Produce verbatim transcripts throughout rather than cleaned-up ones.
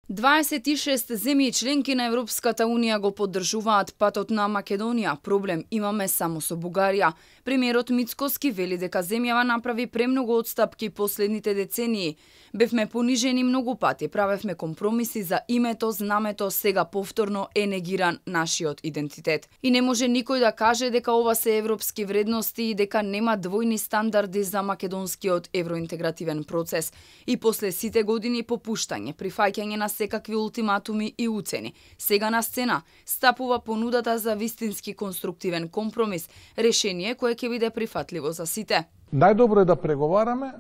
дваесет и шест земји членки на Европската Унија го поддржуваат патот на Македонија. Проблем имаме само со Бугарија. Премиерот Мицкоски вели дека земјава направи премногу отстапки последните децении. Бевме понижени многу пати, правевме компромиси за името, знамето, сега повторно е негиран нашиот идентитет. И не може никој да каже дека ова се европски вредности и дека нема двојни стандарди за македонскиот евроинтегративен процес. И после сите години попуштање, прифаќање на секакви ултиматуми и уцени. Сега на сцена стапува понудата за вистински конструктивен компромис, решение кое ќе биде прифатливо за сите. Најдобро е да преговараме,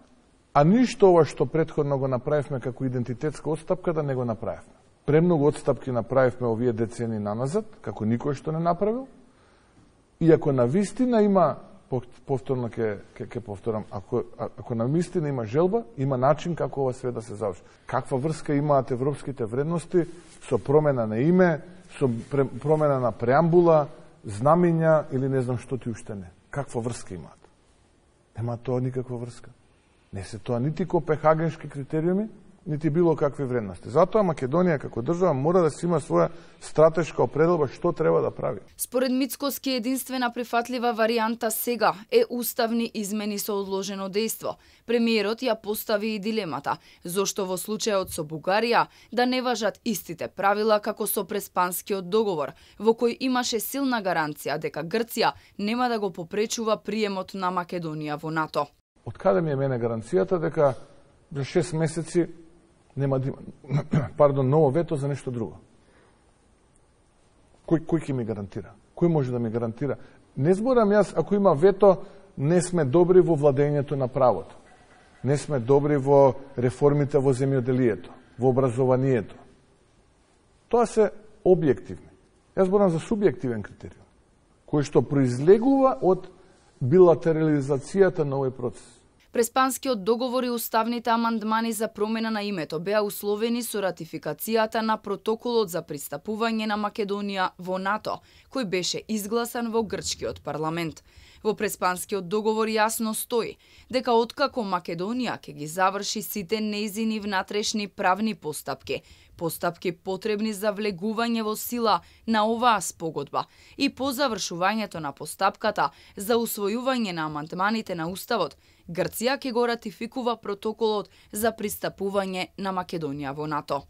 а ништо ова што претходно го направивме како идентитетска отстапка да не го направивме. Премногу отстапки направивме овие децени наназад, како никој што не направил. И ако на вистина има, повторно ќе ќе повторам, ако ако на вистина има желба, има начин како ова све да се заврши. Каква врска имаат европските вредности со промена на име, со промена на преамбула, знамења или не знам што ти уште не. Каква врска имаат? Нема тоа никаква врска. Не се тоа нити копенхагенски критериуми, нити било какви вредности. Затоа Македонија како држава мора да си има своја стратешка определба што треба да прави. Според Мицкоски единствена прифатлива варијанта сега е уставни измени со одложено дејство. Премиерот ја постави и дилемата зошто во случајот со Бугарија да не важат истите правила како со Преспанскиот договор, во кој имаше силна гаранција дека Грција нема да го попречува приемот на Македонија во НАТО. Од каде ми е мене гаранцијата дека за шест месеци нема да има, пардон, ново вето за нешто друго? Кој кој ќе ми гарантира? Кој може да ми гарантира? Не зборам јас, ако има вето, не сме добри во владењето на правото. Не сме добри во реформите во земјоделието, во образованието. Тоа се објективни. Јас зборам за субјективен критериум, кој што произлегува од билатерализацијата на овој процес. Преспанскиот договор и уставните амандмани за промена на името беа условени со ратификацијата на протоколот за пристапување на Македонија во НАТО, кој беше изгласан во грчкиот парламент. Во Преспанскиот договор јасно стои дека откако Македонија ќе ги заврши сите нејзини внатрешни правни постапки, постапки потребни за влегување во сила на оваа спогодба и по завршувањето на постапката за усвојување на амандманите на Уставот, Грција ќе го ратификува протоколот за пристапување на Македонија во НАТО.